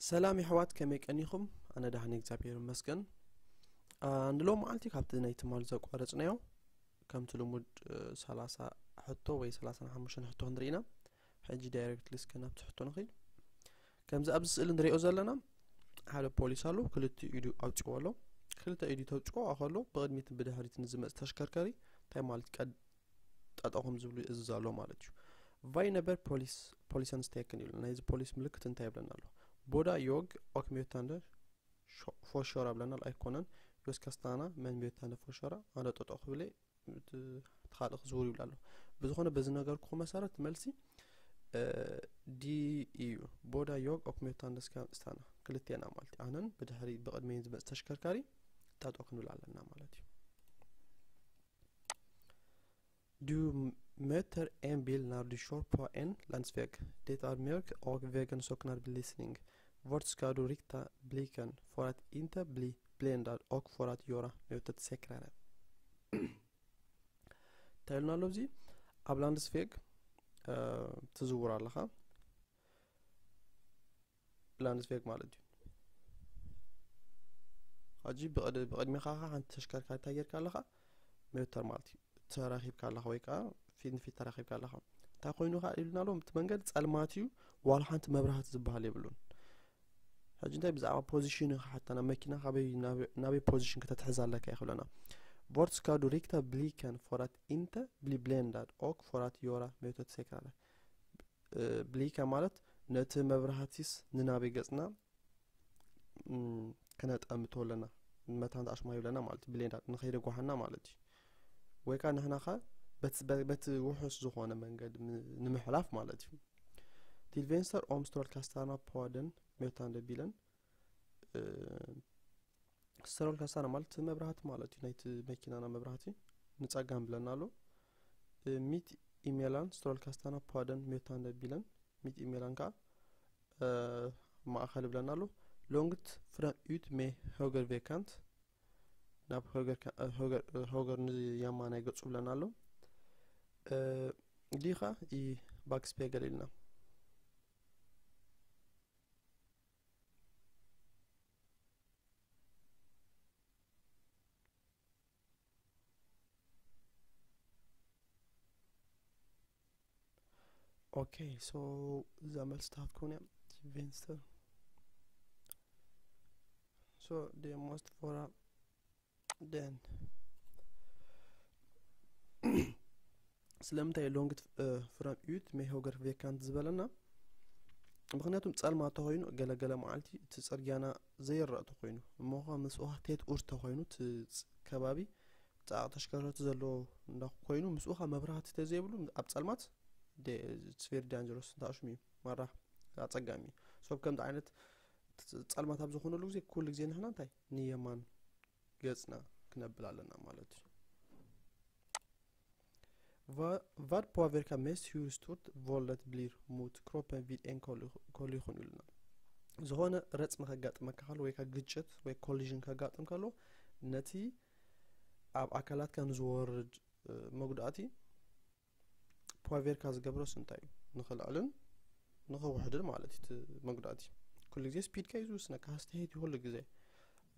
ሰላም የሕዋት፣ ከመይ ቀኒኹም? ኣነ ደሓን፣ እግዚኣብሔር ይመስገን። ንሎም መዓልቲ ካብቲ ናይ ትማል ዘቋረጽናዮ ከምቲ ልሙድ ሰላሳ ሕቶ ወይ ሰላሳ ሓሙሽተ ሕቶ ክንርኢ ኢና። ሕጂ ዳይሬክትሊ እስከ ናብቲ ሕቶ ንኺድ። ከምዚ ኣብዚ ስእሊ ንሪኦ ዘለና ሓደ ፖሊስ ኣሎ፣ ክልተ ኢዱ ኣውፅዎ ኣሎ። ክልተ ኢዱ ተውፅዎ ከሎ ብቕድሚት ብድሕሪት ንዝመፅ ተሽከርካሪ እንታይ ማለት ቀድ ጠጠኹም ዝብሉ ይእዝዝ ኣሎ ማለት እዩ። ቫይ ነበር ፖሊስ ፖሊሰን ስቴክን ይብሉ። ናይዚ ፖሊስ ምልክት እንታይ ይብለና ኣሎ? ቦዳ ዮግ ኦክ ሜታንደ ፎሾራ ብለና ኣይኮነን። ዮስ ካስታና መን ሜታንደ ፎሾራ ኣነ ጠጠኹ ብለ ትኻልእ ክዝውር ይብል ኣሎ። ብዝኾነ በዚ ነገር ክኹ መሰረት መልሲ ዲ እዩ። ቦዳ ዮግ ኦክ ሜታንደ ስታና ክልቴና ማለት እዩ። ኣነን ብድሕሪ ብቕድመይን ዝመፅ ተሽከርካሪ ጠጠ ክንብል ኣለና ማለት እዩ። Du möter en bil når du kjører på en landsvei. Det er mørkt og veien sokner belysning. Hvor skal du rikte blikken for at ikke bli blendet og for at gjøre møtet sikrere? እንታይ ኢሉና ኣሎ? እዚ ኣብ ላንድስቬግ ትዝውር ኣለኻ። ላንድስቬግ ማለት እዩ። ሕጂ ብቕድሚኻ ሓንቲ ተሽከርካሪ እንታይ ጌርካ ኣለኻ? ሜተር ማለት እዩ። ተራኺብካ ኣለኻ ወይ ከዓ ፊት ንፊት ተራኺብካ ኣለኻ። እንታይ ኮይኑ ከዓ ኢሉና ኣሎ? እቲ መንገዲ ጸልማት እዩ፣ ዋላ ሓንቲ መብራህቲ ዝበሃል የብሉን። ሕጂ እንታይ ብዛዕባ ፖዚሽን ኢኻ ሓታ ናብ መኪና ካበይ ናበይ ፖዚሽን ከተትሕዝ ኣለካ ይኽብለና። ቮርት ስካ ዱ ሪክታ ብሊከን ፎራት ኢንተ ብሊ ብሌንዳድ ኦክ ፎራት ዮራ ሜቶት ሴክራረ ብሊካ ማለት ነቲ መብራህቲስ ንናበይ ገጽና ክነጠምቶ ኣለና፣ መታን ተኣሽማ ይብለና ማለት ብሌንዳ ንኸይደጓሓና ማለት እዩ። ወይ ከዓ ንሕና ኸ በቲ ውሑስ ዝኾነ መንገዲ ንምሕላፍ ማለት እዩ። ቲልቬንስተር ኦምስትሮል ካስታና ፖዋደን ሜታን ደቢለን ስትሮል ካስታና ማለት መብራህቲ ማለት እዩ። ናይቲ መኪናና መብራህቲ ንጸጋም ብለና ኣሎ። ሚት ኢሜላን ስትሮል ካስታና ፓደን ሜታን ደቢለን ሚት ኢሜላን ከዓ ማእኸል ብለና ኣሎ። ሎንግት ፍረም ዩት ሜ ሆገር ቬካንት ናብ ሆገር ንየማናይ ገጹ ብለና ኣሎ። ዲኻ ይ ባክስፔገል ኢልና Okay, so the Amel start ኮነ Venster. So the most for then ስለምንታይ ሎንግት ፍረም ዩት ሜ ሆገር ቬካንት ዝበለና? ምክንያቱም ጸልማ ተኮይኑ ገለገለ መዓልቲ እቲ ጽርግያና ዘይረእ ተኮይኑ እሞ ከ ምስኡ ቴት ኡር ተኮይኑ እቲ ከባቢ ጻዕ ተሽከርከርቲ ዘለዎ እንዳ ኮይኑ ምስኡ ከ መብራህቲ ተዘይብሉ ኣብ ጸልማት it's very dangerous እንታሽሙ እዩ ማራ ኣጸጋሚ እዩ። ሰብ ከምዚ ዓይነት ጸልማት ኣብ ዝኾነሉ ግዜ ኩሉ ግዜ ንሕና እንታይ ንየማን ገጽና ክነብል ኣለና ማለት እዩ። Vad påvirker mest hur stort våldet blir mot kroppen vid en kollision ኢሉና። ዝኾነ ረጽሚ ከጋጥመካ ከሎ ወይ ግጭት ወይ ኮሊዥን ከጋጥም ከሎ ነቲ ኣብ ኣካላትካ ንዝወርድ መጉዳእቲ ፖቬርካ ዝገብሮስ እንታይ እዩ? ንክልዕልን ንክውሕድን ማለት እዩ። እቲ መጉዳእቲ ኩሉ ግዜ ስፒድካ እዩ ዝውስነካ። ሃስተሄት እዩ ኩሉ ግዜ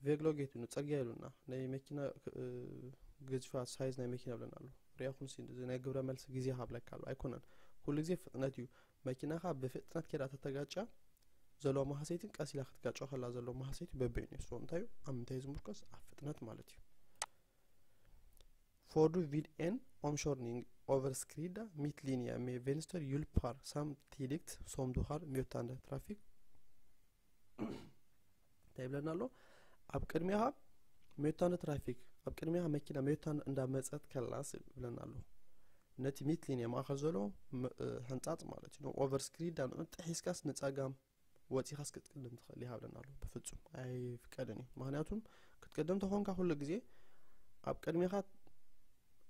ቬግሎጌት እዩ፣ ጽርግያ ኢሉና ናይ መኪና ግዝፋት ሳይዝ ናይ መኪና ብለና ኣሎ። ሪኣኹም ሲ ናይ ግብረ መልሲ ግዜ ካብለካ ኣሎ ኣይኮነን። ኩሉ ግዜ ፍጥነት እዩ። መኪናኻ ብፍጥነት ኬዳ ተተጋጫ ዘለዎ መሃሰይትን ቀስ ኢላ ክትጋጮ ከላ ዘለዎ መሃሰይቲ በበይኑ እዩ። ሶ እንታይ እዩ ኣብ ምንታይ ዝምርኮስ ኣብ ፍጥነት ማለት እዩ። Får du vid en omkjøring overskride midtlinje med venstre hjulper samtidig som du har møtende trafikk? እንታይ ይብለና ኣሎ? ኣብ ቅድሚኻ ሜታንደ ትራፊክ ኣብ ቅድሚኻ መኪና ሜታንደ እንዳመፀት ከላስ ይብለና ኣሎ። ነቲ ሚትሊን ማእኸል ዘሎ ሕንፃፅ ማለት እዩ። ኦቨርስክሪድ ንዑ ጥሒስካስ ንፀጋም ወፂኻስ ክትቅድም ትኽእል ይሃብለና ኣሎ። ብፍፁም ኣይፍቀድን እዩ። ምክንያቱም ክትቅድም ተኾንካ ኩሉ ግዜ ኣብ ቅድሚኻ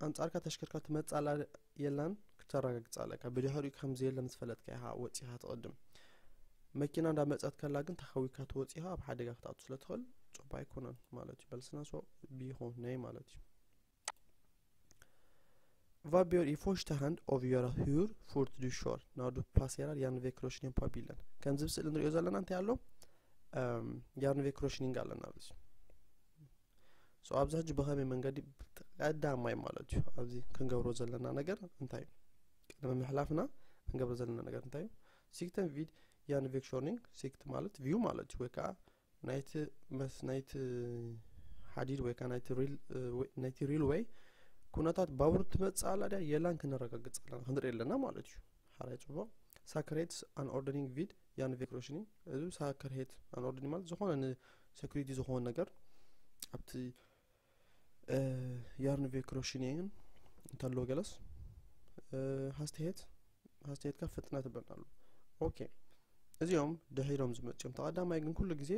ኣንጻርካ ተሽከርካር ትመጻላ የላን ክተረጋግጻ ኣለካ። ብድሕሪኡ ከም ዘየለ ምስ ፈለጥካ ኢኻ ወጺኻ ትቕድም። መኪና እንዳመጸት ከላ ግን ተኸዊካ ትወጺኻ ኣብ ሓደጋ ክትኣቱ ስለ ትኽእል ጽቡቅ ኣይኮነን ማለት እዩ። በልስና ሶ ቢኹ ነይ ማለት እዩ። Vad bør i første hand avgjøre hvor fort du kjører når du passerer en veikrossning på bilen? ከምዚ ብስእሊ ንሪኦ ዘለና እንታይ ኣሎ? ያርንቬ ክሮሽኒንግ ኣለና ኣብዚ። So ኣብዚ ሕጂ ብኸመይ መንገዲ ቀዳማይ ማለት እዩ ኣብዚ ክንገብሮ ዘለና ነገር እንታይ እዩ? ቅድሚ ምሕላፍና ክንገብሮ ዘለና ነገር እንታይ እዩ? Sikten vid Jernvägsstörning፣ ሲክት ማለት ቪው ማለት እዩ፣ ወይ ከዓ ናይቲ መስ ናይቲ ሓዲድ ወይ ከዓ ናይቲ ሪል ናይቲ ሪል ወይ ኩነታት ባቡር ትመጽእ ኣላ ድያ የላን ክነረጋግጽ ኣለና፣ ክንርኢ ኣለና ማለት እዩ። ሓራይ ጽቡቕ። Säkerhetsanordning vid Jernvägsstörning፣ እዚ Säkerhetsanordning ማለት ዝኾነ ንሴኩሪቲ ዝኾነ ነገር ኣብቲ ያርንቬ ክሮሽኒንግ እንተሎ ገለስ ሃስትሄት ሃስትሄትካ ፍጥነት ይበልናሉ። ኦኬ፣ እዚኦም ድሒሮም ዝመጽኦም። ተቐዳማይ ግን ኩሉ ግዜ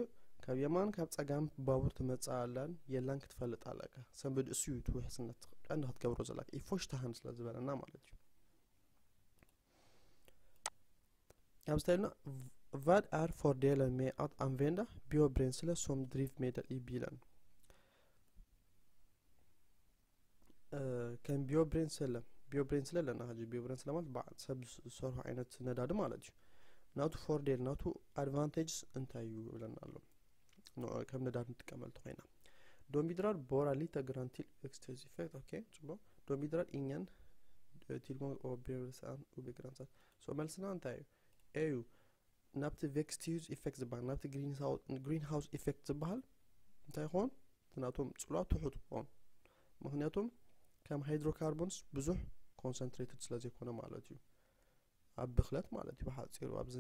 ካብ የማን ካብ ጸጋም ባቡር ትመጽእ ኣላን የላን ክትፈልጥ ኣለካ። ሰንብድ እሱ እዩ እቲ ውሕስነት ቀንዲ ክትገብሮ ዘለካ። ኢፎሽታሃን ስለ ዝበለና ማለት እዩ። ኣብ ስታይልና ቫድ ኣር ፎርዴለ ሜ ኣት ኣንቬንዳ ቢዮ ብሬንስለ ሶም ድሪቭ ሜደል ኢቢለን ከም ቢዮ ብሬንስለ ቢዮ ብሬንስለ ኣለና። ሕጂ ቢዮ ብሬንስለ ማለት በዓል ሰብ ዝሰርሖ ዓይነት ነዳዲ ማለት እዩ። ናቱ ፎርዴል ናቱ ኣድቫንቴጅስ እንታይ እዩ ይብለና ኣሎ። ንዑ ከም ነዳዲ ንጥቀመሉ ተኾይና ዶምቢድራር ቦራ ሊተ ግራንቲል ኤክስቴዝ ኢፌክት። ኦኬ፣ ጽቡቕ። ዶምቢድራር ኢኛን ቲልሞ ኦቤርሳን ኡቤግራንሳት። ሶ መልስና እንታይ እዩ? ኤዩ ናብቲ ቬክስቲዩዝ ኢፌክት ዝበሃል ናብቲ ግሪን ሃውስ ኢፌክት ዝበሃል እንታይ ይኾን? እቲ ናቶም ጽልዋ ትሑት ይኾን። ምክንያቱም ከም ሃይድሮካርቦንስ ብዙሕ ኮንሰንትሬትድ ስለ ዘይኮነ ማለት እዩ። ኣብ ብክለት ማለት እዩ። ብሓጺሩ ኣብዚ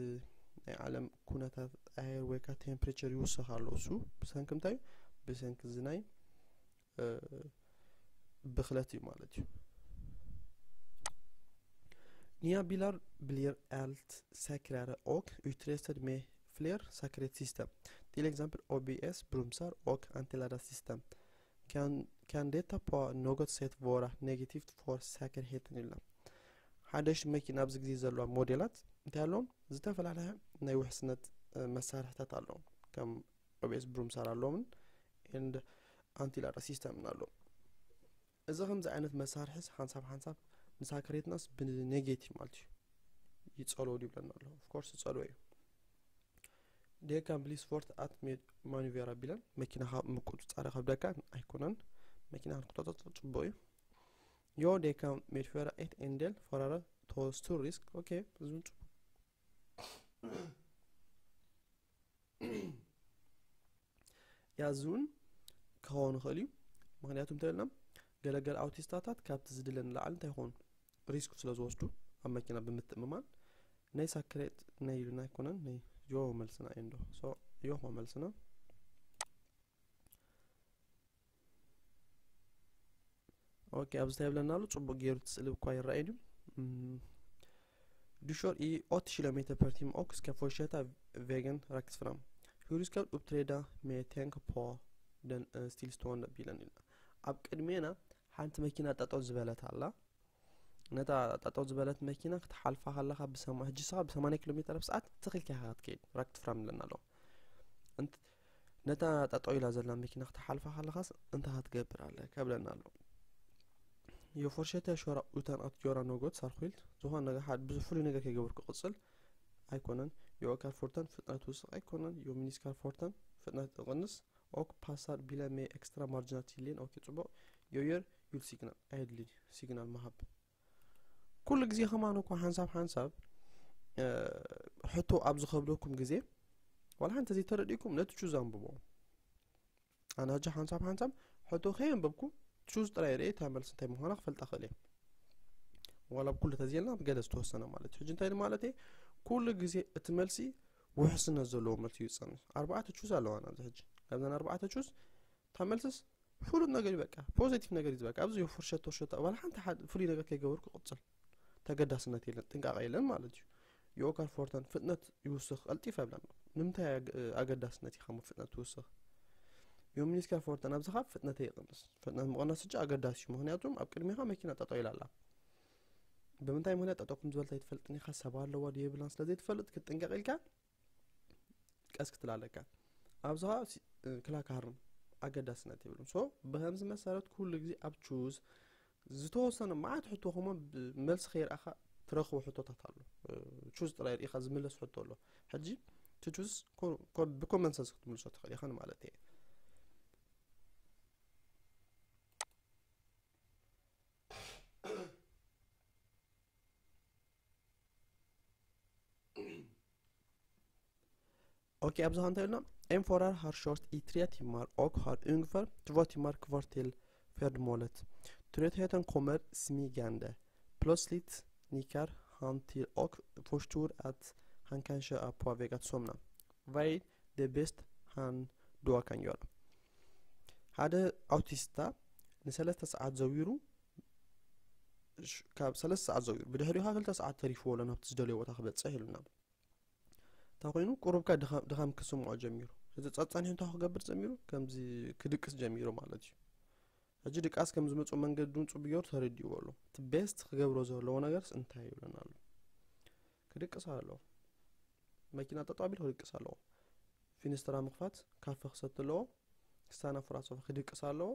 ናይ ዓለም ኩነታት ኣየር ወይ ከዓ ቴምፕሬቸር ይውሰኽ ኣሎ። እሱ ብሰንኪ እንታይ? ብሰንኪ እዚ ናይ ብክለት እዩ ማለት እዩ። Nya bilar blir allt säkrare och utrustade med fler säkerhetssystem, till exempel A B S-bromsar och antiladdarsystem. Kan, kan detta på något sätt vara negativt för säkerheten? ይብልና። ሓደሽቲ መኪና ኣብዚ ግዜ ዘለዋ ሞዴላት እንታይ ኣለዎም? ዝተፈላለየ ናይ ውሕስነት መሳርሕታት ኣለዎም። ከም ኦቤስ ብሩምሳር ኣለዎምን ኤንድ ኣንቲ ላዳር ሲስተምን ኣለዎም። እዚ ከምዚ ዓይነት መሳርሒስ ሓንሳብ ሓንሳብ ንሳክሬትናስ ብኔጌቲቭ ማለት እዩ ይጸልዎ ይብለና ኣሎ። ኦፍኮርስ ይጸልዎ እዩ። ዴካን ብሊስ ፎርት ኣት ማኑቬራ ቢለን መኪናኻ ምቁጽጻር ከብደካ ኣይኮነን። መኪና ክንቆጻጸር ጽቡቕ እዩ። ዮ ዴካን ሜድፌራ ኤት ኤንደል ፈራረ ቶስቱ ሪስክ። ኦኬ፣ እዚ እውን ጽቡቕ ያዝውን ክኸውን ይኽእል እዩ። ምክንያቱ እንተልና ገለገለ ኣውቲስታታት ካብቲ ዝድለ ንላዕሊ እንታይ ይኾኑ ሪስክ ስለ ዝወስዱ ኣብ መኪና ብምትእምማን ናይ ሳክሬት ናይ ኢሉና ኣይኮነን ናይ ዮ መልስና እዩ እንዶ። ሶ ዮ ኾ መልስና። ኦኬ፣ ኣብዚ እንታይ ይብለና ኣሎ? ጽቡቕ ገይሩ እቲ ስእሊ እኳ ይረኣይ ድዩ? Du kör i åttio kilometer per timme och ska fortsätta vägen rakt fram. Hur ska du uppträda med tanke på den stillstående bilen? Iልና ኣብ ቅድሜና ሓንቲ መኪና ጠጠው ዝበለት ኣላ። ነታ ጠጠው ዝበለት መኪና ክትሓልፋ ከለኻ ብሰማ ሕጂ ስኻ ብ ሰማንያ ኪሎ ሜትር ኣብ ሰዓት ትኽልካ ኢኻ ክትከይድ። ራክት ፍራም ኣለና ኣሎ። እንት ነታ ጠጠው ኢላ ዘላ መኪና ክትሓልፋ ከለኻስ እንታይ ክትገብር ኣለካ ብለና ኣሎ። የፎርሸተ ሾራ ኡታን ኣት ጆራ ኖጎት ሳርኩልት ዝኾነ ነገር ሓደ ብዙ ፍሉይ ነገር ከይገበርኩ ክቕጽል ኣይኮነን። የኦካር ፎርተን ፍጥነት ውስቕ ኣይኮነን። የሚኒስካር ፎርተን ፍጥነት እቕንስ ኦክ ፓሳር ቢለ ሜ ኤክስትራ ማርጂናል ሲሊን። ኦኬ፣ ጽቡቕ። ዮየር ዩል ሲግናል ኣየድሊ ሲግናል ምሃብ። ኩሉ ግዜ ከማን እኮ ሓንሳብ ሓንሳብ ሕቶ ኣብ ዝኸብደኩም ግዜ ዋላ ሓንቲ ዘይተረዲእኩም ነቲ ቹዝ ኣንብቦ። ኣነ ሕጂ ሓንሳብ ሓንሳብ ሕቶ ከየንበብኩ ቹዝ ጥራይ ርኤ እታ መልሲ እንታይ ምዃና ክፈልጣ ክእል እየ። ዋላ ኣብ ኩሉ ተዘየልና ኣብ ገለ ዝተወሰነ ማለት እዩ። ሕጂ እንታይ ማለት እየ? ኩሉ ግዜ እቲ መልሲ ውሕስነት ዘለዎ መልሲ እዩ ዝጸንሕ። ኣርባዕተ ቹዝ ኣለዋና ኣብዚ ሕጂ። ካብዘን ኣርባዕተ ቹዝ እታ መልስስ ፍሉጥ ነገር እዩ፣ በቃ ፖዚቲቭ ነገር እዩ። በቃ ኣብዚ ፍርሸት ተርሸት ዋላ ሓንቲ ሓደ ፍሉይ ነገር ከይገበርኩ ክቕጽል ተገዳስነት የለን፣ ጥንቃቐ የለን ማለት እዩ። የኦካር ፎርተን ፍጥነት ይውስኽ ቀልጢፍ ኣብላን ንምንታይ ኣገ- ኣገዳስነት እዩ ከም ፍጥነት ትውስኽ? የሚኒስካር ፎርተን ኣብዚ ካብ ፍጥነት ይቕንስ። ፍጥነት ምቕናስ እጂ ኣገዳሲ እዩ፣ ምክንያቱም ኣብ ቅድሚኻ መኪና ጠጠው ኢላ ኣላ። ብምንታይ ምክንያት ጠጠው ከም ዝበለት ኣይትፈልጥን ኢኻ፣ ሰብ ኣለዋ ድዮ የብላን ስለ ዘይትፈልጥ ክትጥንቀቕ ኢልካ ቀስ ክትላለካ። ኣብዚ ከዓ ክላካርን ኣገዳስነት የብሉን። ሶ ብከምዚ መሰረት ኩሉ ግዜ ኣብ ቹዝ ዝተወሰነ መዓት ሕቶ ከሞ መልሲ ከይረኣኻ ትረኽቦ ሕቶታት ኣሎ። ቹዝ ጥራይ ርኢኻ ዝምለስ ሕቶ ኣሎ። ሕጂ to choose co- co- ብኮመን ሰንስ ክትምልሶ ትኽእል ኢኻ ማለት እየ። ኦኬ፣ ኣብዚ ኸ እንታይ ኢልና? En fører har kjørt i tre timer og har ungefær to timer kvar til ferdemålet. Trøttheten kommer smygende. Plötsligt nikker han til og forstår at han kanskje er på vei at sovne. Hva er det beste han da kan gjøre? ሓደ ኣውቲስታ ንሰለስተ ሰዓት ዘዊሩ፣ ሽ- ካብ ሰለስተ ሰዓት ዘዊሩ፣ ብድሕሪኡ ከዓ ክልተ ሰዓት ተሪፍዎ ኣሎ ናብቲ ዝደለዮ ቦታ ክበፅሕ ኢሉና። እንታይ ኮይኑ? ቁሩብካ ድኻም ድኻም ክስምዖ ጀሚሩ። እዚ ጸ- ጸኒሑ እንታይ ክገብር ጀሚሩ? ከምዚ ክድቅስ ጀሚሩ ማለት እዩ። ሕጂ ድቃስ ከም ዝመጽኦ መንገዲ እውን ጽቡቅ ገይሩ ተረዲእዎ ኣሎ። እቲ ቤስት ክገብሮ ዘለዎ ነገርስ እንታይ እዩ ይብለና ኣሎ? ክድቅስ ኣለዎ። መኪና ጠጠው ኣቢሉ ክድቅስ ኣለዎ። ፊንስትራ ምኽፋት፣ ካፈ ክሰቲ ኣለዎ። ክስታና ፍራሶ ክድቅስ ኣለዎ።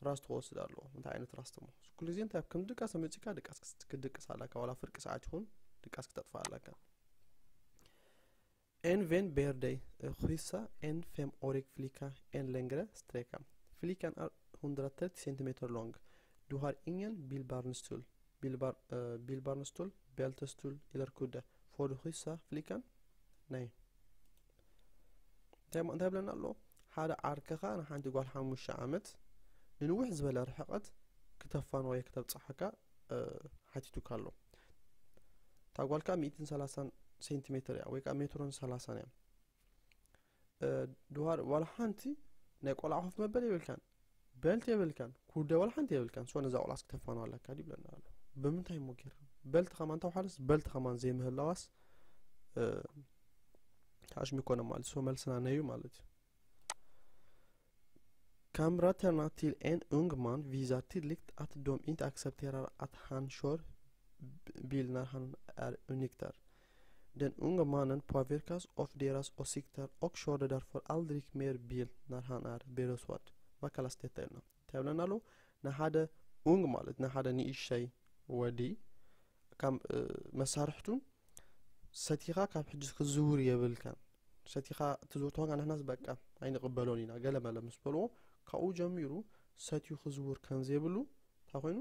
ራስት ክወስድ ኣለዎ። እንታይ ዓይነት ራስት እሞ? ኩሉ ግዜ እንታይ ከም ድቃስ መጺካ ድቃስ ክስ- ክድቅስ ኣለካ። ዋላ ፍርቂ ሰዓት ይኹን ድቃስ ክተጥፋ ኣለካ። En venn ber deg krysse en fem-årig flicka en lengre strekka. Flickan er hundre tretti centimeter lang. Du har ingen bilbarnstol. Bilbar, eh, bilbarnstol, beltestol eller kudde. Får du krysse flickan? Nej. እንታይ ሞ- እንታይ ይብለና ኣሎ? ሓደ ዓርክኻ ንሓንቲ ጓል ሓሙሽተ ዓመት ንንውሕ ዝበለ ርሕቀት ክተፋንወዮ ክተብፅሓካ እ፣ ሓቲቱካ ኣሎ። እታ ጓልካ ሚእትን ሰላሳን ሴንቲሜትር እያ፣ ወይ ከዓ ሜትሮን ሰላሳን እያ። እ፣ ድዋር ዋላ ሓንቲ ናይ ቆልዓ ኮፍ መበል የብልካን፣ በልት የብልካን፣ ኩደ ዋላ ሓንቲ የብልካን። ሶ ነዛ ቆልዓስ ክተፋንዋ ኣለካ ድዩ ይብለና ኣሎ። ብምንታይ እሞ ጌርካ? በልት ከማን ተውሓደስ በልት ከማን ዘይምህላዋስ እ፣ ኣሽሚ ኮነ ማለት ሶ መልስና ነዩ ማለት እዩ። Kamraterna til en ung mann viser tydelig at de ikke aksepterer at han kjører bil når han er onykter. Den unge mannen påvirkes av deres åsikter og kjører derfor aldri mer bil når han er beruset. Hva kalles dette? ተብለና ኣሎ። ንሓደ ኡንግ ማለት ንሓደ ንእሽተይ ወዲ ካብ መሳርሕቱ ሰቲኻ ካብ ሕጂ ክዝውር የብልካን። ሰቲኻ ትዝውር ተኾንካ ንሕናስ በቃ ኣይንቕበሎን ኢና ገለ መለ ምስ በልዎ፣ ካብኡ ጀሚሩ ሰትዩ ክዝውር ከም ዘይብሉ እንታይ ኮይኑ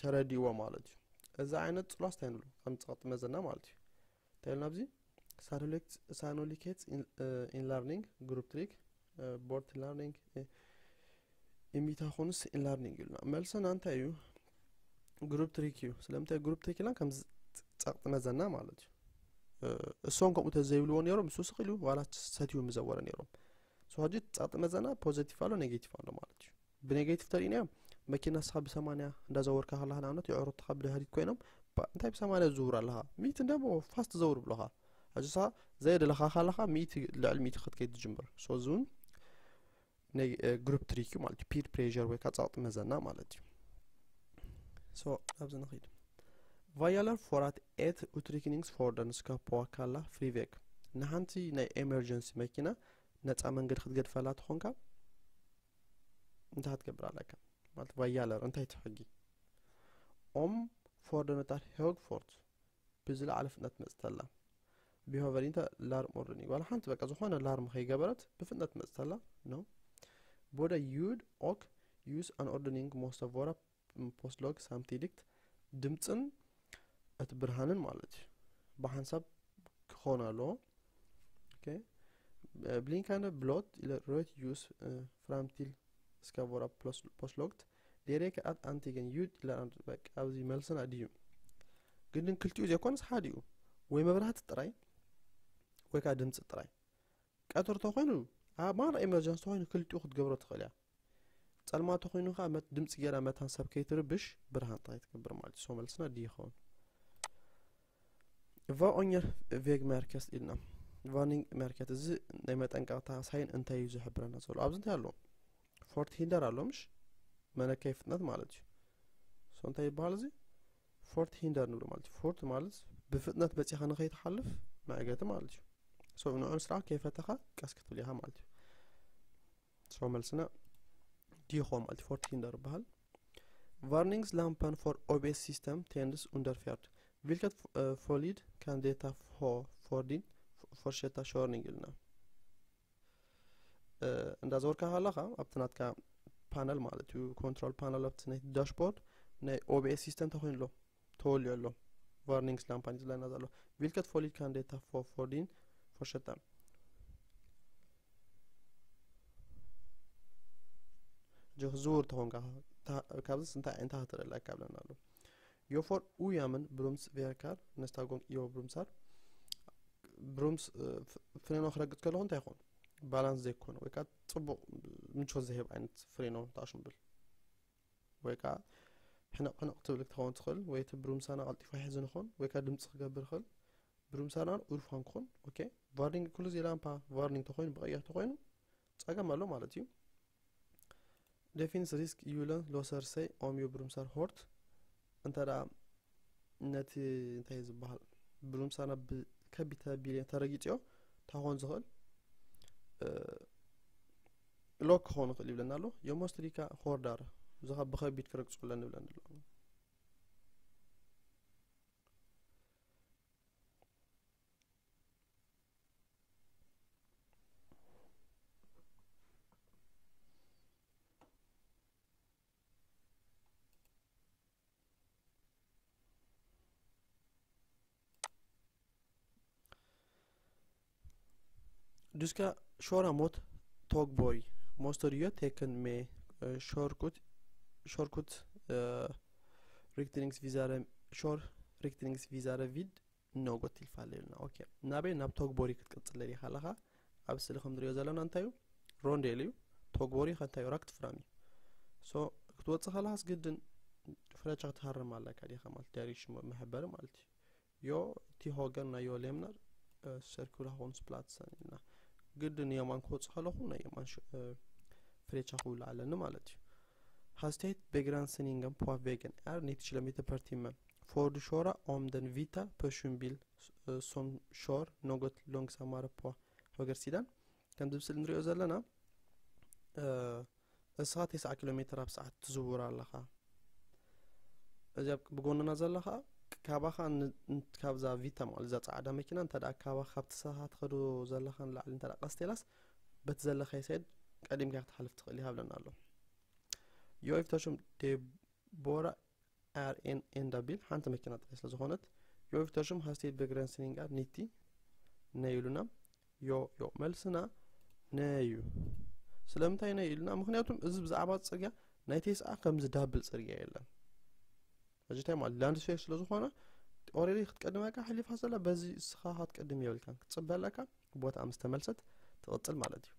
ተረዲእዎ ማለት እዩ። እዚ ዓይነት ጽሏስ እንታይ ንብሎ? ከም ጸቕጢ መዘና ማለት እዩ። እንታይ ኢልና ኣብዚ ሳኖሊኬት ኢንለርኒንግ ግሩፕ ትሪክ ቦርት ኢንለርኒንግ ኢሚታኹንስ ኢንለርኒንግ ኢሉና። መልስና እንታይ እዩ? ግሩፕ ትሪክ እዩ። ስለምንታይ ግሩፕ ትሪክ ኢልና? ከም ጸቕጢ መዘና ማለት እዩ። እሶም ከምኡ ተዘይብልዎ ነይሮም፣ እሱ ስቕ ኢሉ ዋላ ሰትዩ ምዘወረ ነይሮም። ሶ ሕጂ ጸቕጢ መዘና ፖዘቲቭ ኣሎ፣ ኔጌቲቭ ኣሎ ማለት እዩ። ብኔጌቲቭ ተሪእናዮ፣ መኪና ንስኻ ብሰማንያ እንዳዘወርካ ከለኻ ንኣብነት የዕሩኽትኻ ብድሕሪት ኮይኖም፣ "ባ- እንታይ ብሰማንያ ትዝውር ኣለኻ? ሚእቲ እንዳ ፋስት ዘውር" ብሎኻ። ሕጂ ንስኻ ዘየደለኻ ከለኻ ሚእቲ፣ ልዕሊ ሚእቲ ክትከይድ ትጅምር። ሶ እዚ እውን ናይ ግሩፕ ትሪክ እዩ ማለት እዩ። ፒር ፕሬር ወይ ከዓ ጸቕጢ መዘና ማለት እዩ። ሶ ኣብዚ ንኸይድ። Vad gjelder for at et utdrikningsfordon skal påkalle fri vei? ንሓንቲ ናይ ኤመርጀንሲ መኪና ነፃ መንገዲ ክትገድፈላ ትኾንካ እንታይ ክትገብር ኣለካ? ማለት ቫያለር እንታይ እቲ ሕጊ? Om fordonet er høyfart ብዝለዓለ ፍጥነት መፅተላ። Behøver ikke larmordning ዋላ ሓንቲ በቃ ዝኾነ ላርም ከይገበረት ብፍጥነት መፅተላ ነው። Både ljud og lys anordning måste være påslått samtidig. ድምፅን እቲ ብርሃንን ማለት እዩ ብሓንሳብ ክኾን ኣለዎ። ኦኬ። Blinkende blått eller rødt lys fram til skal være påslått. Det räcker att antingen ljud eller anordning በቃ ኣብዚ መልስና ድዩ? ግን ክልቲኡ ዘይኮነስ ሓዲኡ ወይ መብራህቲ ጥራይ ወይ ከዓ ድምፂ ጥራይ። ቀትሪ ተኮይኑ ኣብ ማራ ኤመርጀንሲ ተኮይኑ ክልቲኡ ክትገብሮ ትኽእል እያ። ጸልማት ተኮይኑ ከዓ መት ድምፂ ገይራ መታን ሰብ ከይትርብሽ ብርሃን ጥራይ ትገብር ማለት እዩ። ሶ መልስና ዲ ይኸውን። Vad er vegmerket ኢልና። ቫርኒንግ መርኬት እዚ ናይ መጠንቀቕታ ሳይን እንታይ እዩ ዝሕብረና ዘሎ? ኣብዚ እንታይ ኣሎ? ፎርት ሂንደር ኣሎ ምሽ? መለከይ ፍጥነት ማለት እዩ። ሶ እንታይ ይበሃል እዚ? ፎርት ሂንደር ንብሎ ማለት እዩ። ፎርት ማለት ብፍጥነት በፂኻ ንኸይትሓልፍ መዕገቲ ማለት እዩ። ሶ ንዑ ምስራዕ ከይፈተኻ ቀስ ክትብል ኢኻ ማለት እዩ። ሶ መልስና ዲ ይኾን ማለት እዩ። ፎርት ሂንደር ይበሃል። Varningslampen for A B S-system tændes under ferd. Hvilket eh, pålyd kan dette få for ፎርዲን ፎርሸታ ሾርኒንግ ኢልና። እንዳዞርካ ከለኻ ኣብቲ ናትካ ፓነል ማለት እዩ፣ ኮንትሮል ፓነል ኣብቲ ናይ ዳሽቦርድ ናይ ኦቢኤስ ሲስተም ተኮይኑ ኣሎ፣ ተወልዮ ኣሎ። ቫርኒንግስ ላምፓን ዝለና ዘሎ ቪልከት ፎሊድ ካንዴታ ፎርዲን ፎርሸታ ጆክ ዝውር ተኾንካ ካብዚ እንታይ እንታይ ክትረላ ካብለና ኣሎ። ዮፎር ኡያምን ብሩምስ ቬርካር ነስታጎን ዮ ብሩምሳር ብሩምስ ፍሬኖ ክረግጥ ከለኹ እንታይ ይኾን? ባላንስ ዘይኮነ ወይ ከዓ ፅቡቕ ምቾት ዝህብ ዓይነት ፍሬኖ ተኣሽምብል ወይ ከዓ ሕነቕ ሕነቕ ትብል ክትኸውን ትኽእል፣ ወይ እቲ ብሩምሳና ቀልጢፉ ይሕዝ ንኾን ወይ ከዓ ድምፂ ክገብር ይኽእል። ብሩምሳና ኡርፋን ክኾን። ኦኬ፣ ቫርኒንግ ኩሉ ዚ ላምፓ ቫርኒንግ ተኾይኑ ብቐይሕ ተኾይኑ ፀገም ኣሎ ማለት እዩ። ዴፊንስ ሪስክ ዩለን ሎሰር ሰይ ኦምዮ ብሩምሳር ሆርት እንተ ደኣ ነቲ እንታይ ዝበሃል ብሩምሳና ብከቢድ ቢልዮን ተረጊፅዮ ታኾን ዝኽእል ሎክ ክኸውን ይኽእል ይብለና ኣሎ። የሞስትሪካ ሆርዳር ዝኻ ብኸቢድ ክረግፁ ኣለኒ ይብለኒ ኣሎ። Du ska köra mot tågbåg. Måste du tecken med eh, körkort, körkort eh, riktningsvisare, kör riktningsvisare vid något tillfälle. Okej. ናበይ ናብ ቶግቦሪ ክትቅጽል ደሊኻ ኣለኻ? ኣብ ስእሊ ከም ንሪኦ ዘለና እንታይ እዩ? ሮንዴል እዩ። ቶግቦሪ ከ እንታይ እዩ? ራክት ፍራም እዩ። ሶ ክትወጽእ ከለኻስ ግድን ፍረቻ ክትሃርም ኣለካ ዲኻ ማለት ዳይሬክሽን መ- መሐበሪ ማለት እዩ። ዮ እቲ ሆገን ናይ ዮ ሌምነር ሰርኩላ ሆንስ ፕላትሰን ኢልና ግድን የማን ክወጽእ ከለኹ ናይ የማን ሽ- እ፣ ፍሬቻ ክውላ ኣለኒ ማለት እዩ። Hastighet begränsningen på vägen är nittio kilometer per timme. Får du köra om den vita personbil eh, som kör något långsammare på högersidan? ከም ዝብስል ንሪኦ ዘለና እ፣ እስኻ ተስዓ ኪሎ ሜትር ኣብ ሰዓት ትዝውር ኣለኻ። እዚኣ ብጎንና ዘለኻ ካባኻ ን- ን- ካብዛ ቪታ ማለት እዛ ፃዕዳ መኪና እንተ ደኣ ካባኻ ካብቲ ስኻ ትኸዶ ዘለኻ ንላዕሊ እንተ ደኣ ቀስቴላስ በቲ ዘለኻዮ ሳይድ ቀዲምካ ክትሓልፍ ትኽእል ኢኻ ብለና ኣሎ። ዮይፍተሹም ዴቦራ ኣር ኤን ኤንዳ ቢል ሓንቲ መኪና ጥራይ ስለ ዝኾነት ዮይፍተሹም ሃስቴት በግረንስኒንጋ ኒቲ ነይ ኢሉና። ዮ ዮ መልስና ነዩ። ስለምንታይ ነይ ኢልና? ምክንያቱም እዚ ብዛዕባ ፅርግያ ናይ ቴስኣ ከምዚ ዳብል ፅርግያ የለን። ሕጂ እንታይ ማለት ላንድስፌር ስለ ዝኾነ ኦሬዲ ክትቀድመካ ሓሊፋ ዘላ በዚ እስኻ ክትቀድም የብልካን ክትፅበ ኣለካ። ቦታ ምስ ተመልሰት ትቕፅል ማለት እዩ።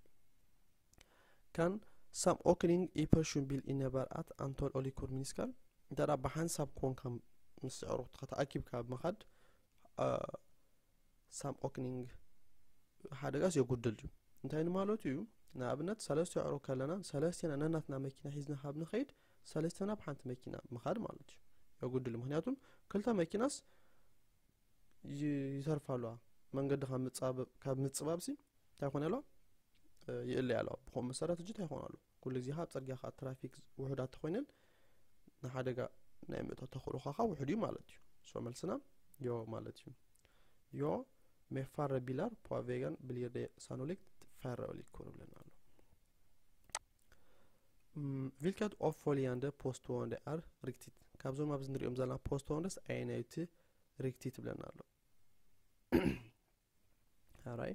Kan samordning i personbil innebär att antal olyckor minskar? እንተ ደኣ ብሓንሳብ ኮንካ ምስ ኣዕሩኽትኻ ተኣኪብካ ኣብ ምኻድ ሳምኦክኒንግ ሓደጋስ የጉድል እዩ። እንታይ ንማለቱ እዩ? ንኣብነት ሰለስተ ኣዕሩኽ ከለና ሰለስቴና ነናትና መኪና ሒዝና ካብ ንኸይድ ሰለስቴና ብሓንቲ መኪና ምኻድ ማለት እዩ። የጉድል ምክንያቱም ክልተ መኪናስ ይ- ይተርፋ ኣለዋ። መንገዲ ካብ ምፅባብ- ካብ ምፅባብሲ እንታይ ኮነ ኣለዋ? ይእለያ ኣለዋ። ብኸምኡ መሰረት እጂ እንታይ ይኾን ኣሎ? ኩሉ ግዜ ካብ ፅርግያ ከዓ ትራፊክ ውሑዳት ተኮይነን ንሓደጋ ናይ ምእቶ ተኽእሎኻ ከዓ ውሑድ እዩ ማለት እዩ። ሶ መልስና ዮ ማለት እዩ። ዮ med färre bilar på vägen blir det sannolikt färre olyckor ብለና ኣሎ። Mm, vilket av följande påstående är riktigt? ካብዞም ኣብዚ ንሪኦም ዘለና ፖስትወንደስ ኣየናይቲ ሪክቲት ብለና ኣሎ? ኣራይ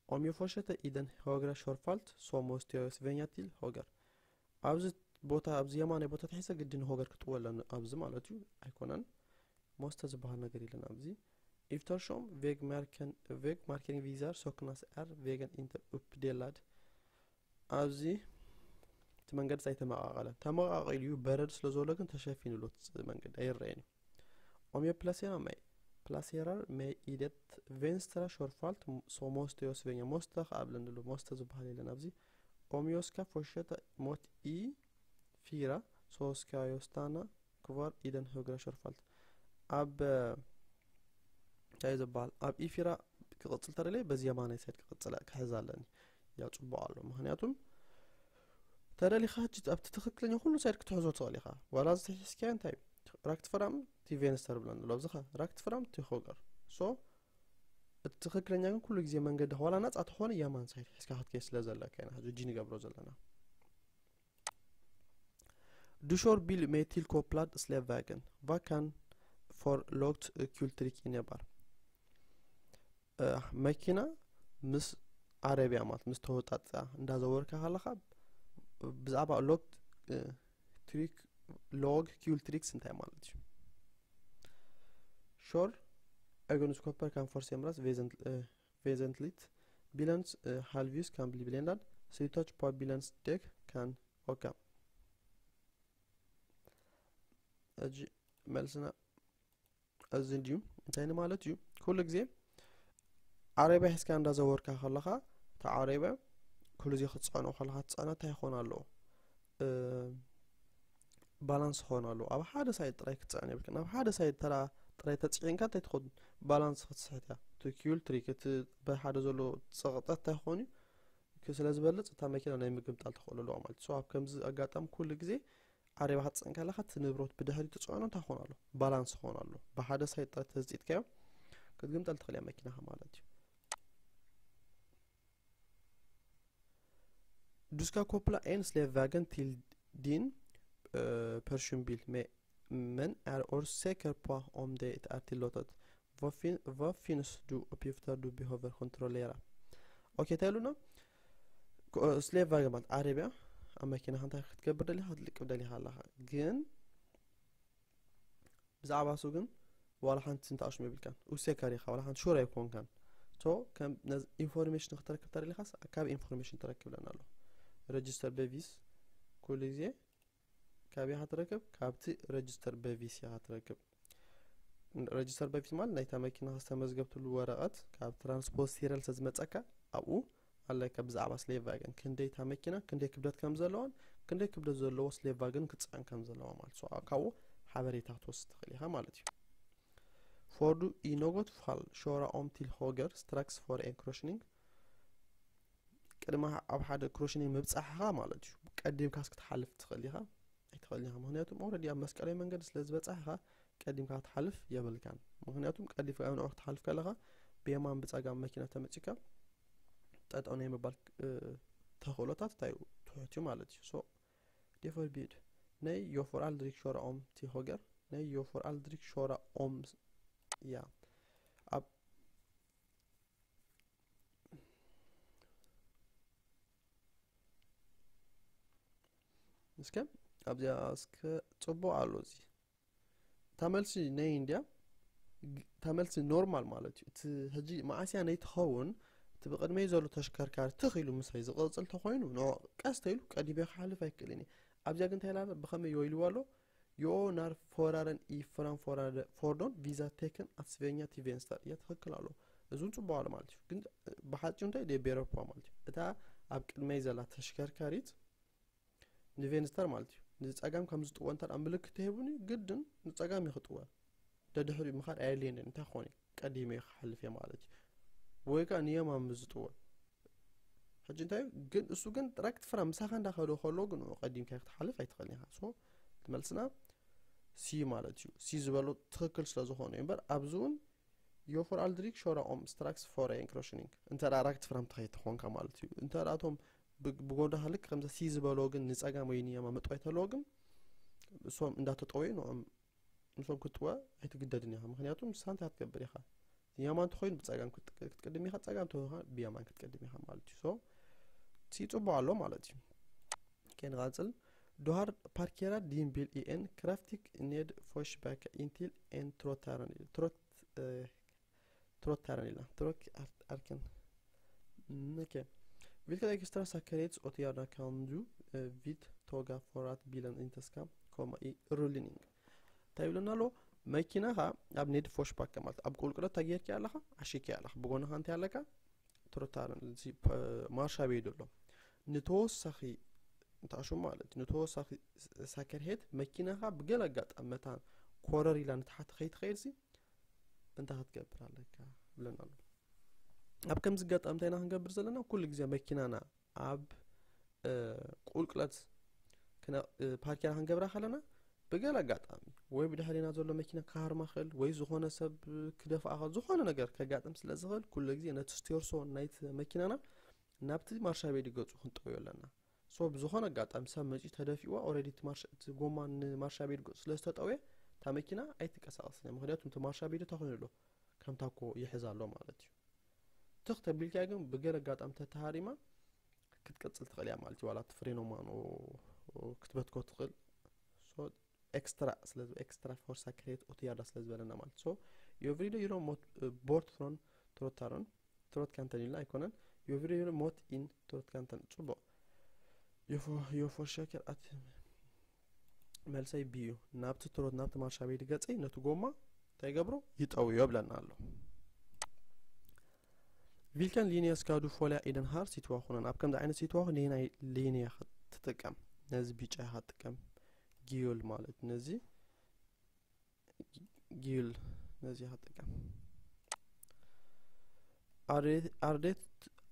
ኦምዮ ፎሸተ ኢደን ሆግራ ሾርፋልት ሶሞስቲዮ ስቨኛ ቲል ሆገር ኣብዚ ቦታ ኣብዚ የማናይ ቦታ ተሒሰ ግድን ሆገር ክጥወለን ኣብዚ ማለት እዩ ኣይኮነን። ሞስተ ዝበሃል ነገር የለን ኣብዚ። ኢፍተርሾም ቬግ ማርኬን ቪዛር ሶክናስ ኣር ቬገን ኢንተር ኡፕ ዴላድ ኣብዚ እቲ መንገዲ ኣይተመቃቀለን። ተመቃቂሉ እዩ በረድ ስለ ዘሎ ግን ተሸፊኑ ኣሎ እቲ መንገዲ ኣይረኣየን እዩ። Om jag placerar mig, placerar mig i det vänstra körfält så måste jag svänga. Måste ከኣ ብለኒ ኣሎ። Måste ዝበሃል የለን ኣብዚ። Om jag ska fortsätta mot E fyra så ska jag stanna kvar i den högra körfält. ኣብ እንታይ እዩ ዝበሃል ኣብ ኢፊራ ክቕፅል ተደለየ በዚ የማናይ ሳይድ ክቕፅል ክሕዝ ኣለኒ። ያው ፅቡቅ ኣሎ ምክንያቱም ተደሊኻ ኣብቲ ትክክለኛ ኩሉ ሳይድ ክትሕዞ ትኽእል ኢኻ። ዋላ እዚ ተሒዝካዮ እንታይ እዩ ራክት ፍራም ቲ ቬንስተር ብለን ዘሎ ኣብዚኻ ራክት ፍራም ቲ ሆገር። ሶ እቲ ትኽክለኛ ግን ኩሉ ግዜ መንገዲ ዋላ ናጻ ተኾነ የማን ሳይድ ሒዝካ ክትከይድ ስለ ዘለካ ኢና ሕጂ ንገብሮ ዘለና። Du kjører bil med tilkoblede slæpvogn. Hva kan for lågt kulltrykk innebære? መኪና ምስ ዓረብያ ማለት ምስ ተወጣጣ እንዳዘወርካ ከለኻ ብዛዕባ lågt tryck, lågt kulltrykk እንታይ ማለት እዩ? Kjører egenskaper kan forandres vesent- vesentlig. Bilens halvhjul kan bli blendet. Slitasje på bilens dekk kan øke. ሕጂ መልስና እዚ ድዩ? እንታይ ንማለት እዩ? ኩሉ ግዜ ዓረብያ ሒዝካ እንዳዘወርካ ከለኻ፣ እቲ ዓረብያ ኩሉ ግዜ ክትጸዕኖ ከለኻ ትጸዕኖ እንታይ ይኾን ኣለዎ? ባላንስ ክኾን ኣለዎ። ኣብ ሓደ ሳይድ ጥራይ ክትጸዕን የብልካ። ናብ ሓደ ሳይድ ተራ ጥራይ ተጽዒንካ እንታይ ትኾን? ባላንስ ክትስሕት እያ። እቲ ኩልትሪክ እቲ ብሓደ ዘሎ ጸቕጠት እንታይ ክኾን እዩ? ስለ ዝበልጽ እታ መኪና ናይ ምግምጣል ተኽእሎ ኣለዋ ማለት እዩ። ኣብ ከምዚ ኣጋጣሚ ኩሉ ግዜ ዓረብያ ክትጽዕን ከለኻ እቲ ንብረት ብድሕሪ ትጽዕኖ እንታይ ክኾን ኣሎ? ባላንስ ክኾን ኣሎ። ብሓደ ሳይድ ጥራይ ተዝጺጥካዮ ክትግምጠል ትኽእል እያ መኪናኻ ማለት እዩ። Du skal koble en slepvogn til din personbil, men er usikker på om det er tillatt. Hva finnes det oppgifter du behøver kontrollere? ኦኬ፣ እንታይ ኢሉና? ስሌፕ ቫገን ማለት ዓረብያ ኣብ መኪናኻ እንታይ ክትገብር ደሊኻ ክትልቅብ ደሊኻ ኣለኻ። ግን ብዛዕባ እሱ ግን ዋላ ሓንቲ እንተኣሽሙ የብልካን። ኡሴከር ኢኻ፣ ዋላ ሓንቲ ሹር ኣይኮንካን። ሶ ከም ኢንፎርሜሽን ክትረክብ ተደሊኻስ ካብ ኢንፎርሜሽን ትረክብ ለና ኣሎ። ረጅስተር በቪስ ኩሉ ግዜ ካብ ኢኻ ትረክብ፣ ካብቲ ረጅስተር በቪስ ኢኻ ትረክብ። ረጅስተር በቪስ ማለት ናይታ መኪና ዝተመዝገብትሉ ወረቐት ካብ ትራንስፖርት ሲሪያል ስለዝመፀካ ኣብኡ ኣለካ ብዛዕባ ስሌፕ ቫገን ክንደይ እታ መኪና ክንደይ ክብደት ከም ዘለዋን ክንደይ ክብደት ዘለዎ ስሌፕ ቫገን ክትፅዕን ከም ዘለዋ ማለት ሶ ካብኡ ሓበሬታ ክትወስድ ትኽእል ኢኻ ማለት እዩ። Får du i något fall köra om till höger strax före en korsning? ቅድሚ ኣብ ሓደ ክሮሽኒንግ ምብጻሕኻ ማለት እዩ ቀዲምካስ ክትሓልፍ ትኽእል ኢኻ ኣይትኽእልን ኢኻ። ምክንያቱም ኦረዲ ኣብ መስቀላዊ መንገዲ ስለ ዝበጻሕኻ ቀዲምካ ክትሓልፍ የብልካን። ምክንያቱም ቀዲምካ ንዑ ክትሓልፍ ከለኻ ብየማን ብጸጋም መኪና ተመጺካ ጠጠው ናይ ምባል ተኽእሎታት እንታይ እዩ ትሑት እዩ ማለት እዩ። ሶ ዴፈር ቢድ ናይ ዮፎር ኣልድሪክ ሾራ ኦም ቲሆገር ናይ ዮፎር ኣልድሪክ ሾራ ኦም እያ ኣብ እስከ ኣብዚኣ እስከ ጽቡቕ ኣሎ እዚ እታ መልሲ ናይ እንድያ እታ መልሲ ኖርማል ማለት እዩ። እቲ ሕጂ መዓስያ ናይ ትኸውን እቲ ብቕድመይ ዘሎ ተሽከርካሪ ትኽ ኢሉ ምሳይ ዝቐጽል ተኾይኑ ንዑ ቀስ ተኢሉ ቀዲመ ክሓልፍ ኣይክእልን እየ። ኣብዚኣ ግን እንታይ ኢላ ብኸመይ ይወይልዋ ኣሎ? Jo, när föraren i framförande fordon visar tecken att svänga till vänster. እያ ትኽክል ኣሎ። እዚ እውን ጽቡቕ ኣሎ ማለት እዩ። ግን ብሓጺሩ እንታይ ደይ ቤረኳ ማለት እዩ። እታ ኣብ ቅድመይ ዘላ ተሽከርካሪት ንቬንስተር ማለት እዩ። ንጸጋም ከም ዝጥወ እንተ ደኣ ምልክት ተሂቡኒ ግድን ንጸጋም እዩ ክጥወ። ደድሕሪኡ ምኻድ ኣየድልየንን። እንታይ ክኾን እዩ? ቀዲመ ክሓልፍ እየ ማለት እዩ። ወይ ከኣ ንየማን ምስ ዝጥወ ሕጂ እንታይ ግን እሱ ግን ራይት ፍራም ምሳኻ እንዳኸዶ ከሎ ግን ንዑ ቀዲምካ ክትሓልፍ ኣይትኽእልን ኢኻ። ሶ እቲ መልስና ሲ ማለት እዩ። ሲ ዝበሎ ትኽክል ስለ ዝኾነ እዩ እምበር ኣብዚ እውን ዮፎር ኣልድሪክ ሾራ ኦም ስትራክስ ፎር ኤንክሮሽኒንግ እንተ ደኣ ራይት ፍራም ተኸይድ ተኾንካ ማለት እዩ። እንተ ደኣ እቶም ብጎዳኻ ልክ ከምዛ ሲ ዝበሎ ግን ንጸጋም ወይ ንየማ ምጥዋይ ተለዎ ግን እሶም እንዳተጠወዩ ንዖም ንሶም ክትጥወ ኣይትግደድን ኢኻ። ምክንያቱ ንስኻ እንታይ ክትገብር ኢኻ? የማን ተኾይኑ ብጸጋም ክትቅድም ኢኻ፣ ጸጋም ተኾይኑ ብየማን ክትቀድም ኢኻ ማለት እዩ። ሶ እቲ ጽቡቕ ኣሎ ማለት እዩ። ከንቐጽል ዶሃር ፓርኬራ ዲምቢል ኢኤን ክራፍቲክ ኔድ ፎሽባክ ኢንቲል ኤን ትሮታረን ትሮት ትሮታረን ኢላ ትሮክ ኣርክን ኦኬ ቪልከ ኤክስትራ ሳከሬትስ ኦትያዳ ካንዱ ቪት ቶጋ ፎራት ቢለን ኢንተስካ ኮማ ሩሊኒንግ እንታይ ይብለና ኣሎ? መኪናኻ ኣብ ኔድ ፎሽባክ ማለት ኣብ ቁልቁለት ተጌርኪ ኣለኻ፣ ዓሺኪ ኣለኻ፣ ብጎንኻ እንታይ ኣለካ? ትሮታርን ማርሻ ቤድ ኣሎ። ንተወሳኺ እንተኣሹ ማለት እዩ ንተወሳኺ ሳከርሄት መኪናኻ ብገለ ኣጋጣሚ መታን ኮረር ኢላ ንታሕቲ ከይትኸይድ ሲ እንታይ ክትገብር ኣለካ ብለና ኣሎ። ኣብ ከምዚ ኣጋጣሚ እንታይ ኢና ክንገብር ዘለና? ኩሉ ግዜ መኪናና ኣብ ቁልቁለት ፓርኪና ክንገብራ ከለና ብገለ ኣጋጣሚ ወይ ብድሕሪና ዘሎ መኪና ክሃርማ ክእል ወይ ዝኾነ ሰብ ክደፍኣኻ ዝኾነ ነገር ከጋጥም ስለ ዝኽእል ኩሉ ግዜ ነቲ ስቴርሶ ናይቲ መኪናና ናብቲ ማርሻ ቤዲ ገጹ ክንጠውዮ ኣለና። ሶ ብዝኾነ ኣጋጣሚ ሰብ መጺኡ ተደፊእዋ ኦረዲ እቲ ማርሻ እቲ ጎማ ንማርሻ ቤዲ ገጹ ስለ ዝተጠውየ እታ መኪና ኣይትንቀሳቐስን እያ። ምክንያቱ እቲ ማርሻ ቤዲ እንታይ ኮይኑ ኣሎ ከምታ እኮ ይሕዝ ኣሎ ማለት እዩ። ትኽ ተቢልካ ግን ብገለ ኣጋጣሚ ተተሃሪማ ክትቀጽል ትኽእል እያ ማለት እዩ። ዋላ እቲ ፍሬኖ ማኖ ክትበትኮ ትኽእል። ሶ ኤክስትራ ስለ ኤክስትራ ፎርሳ ክሬት ኦትያዳ ስለ ዝበለና ማለት ሶ የቭሪደ ዩሮ ሞት ቦርት ፍሮን ትሮታሮን ትሮት ካንተን ኢልና ኣይኮነን። የቭሪደ ዩሮ ሞት ኢን ትሮት ካንተን ጽቡቕ። የፎ የፎ ሸከር ኣት መልሰይ ብዩ ናብቲ ትሮት ናብቲ ማርሻ ቤዲ ገጸይ ነቲ ጎማ እንታይ ይገብሮ ይጠውዮ ብለና ኣሎ። Vilken linje ska du följa i den här situationen? ኣብ ከምዚ ዓይነት ሲትዋኹን ነየናይ ሊንያ ክትጥቀም? ነዚ ቢጫ ኢኻ ትጥቀም። ጊዩል ማለት ነዚ ጊዩል ነዚ ኢኻ ትጥቀም። Är det, är det,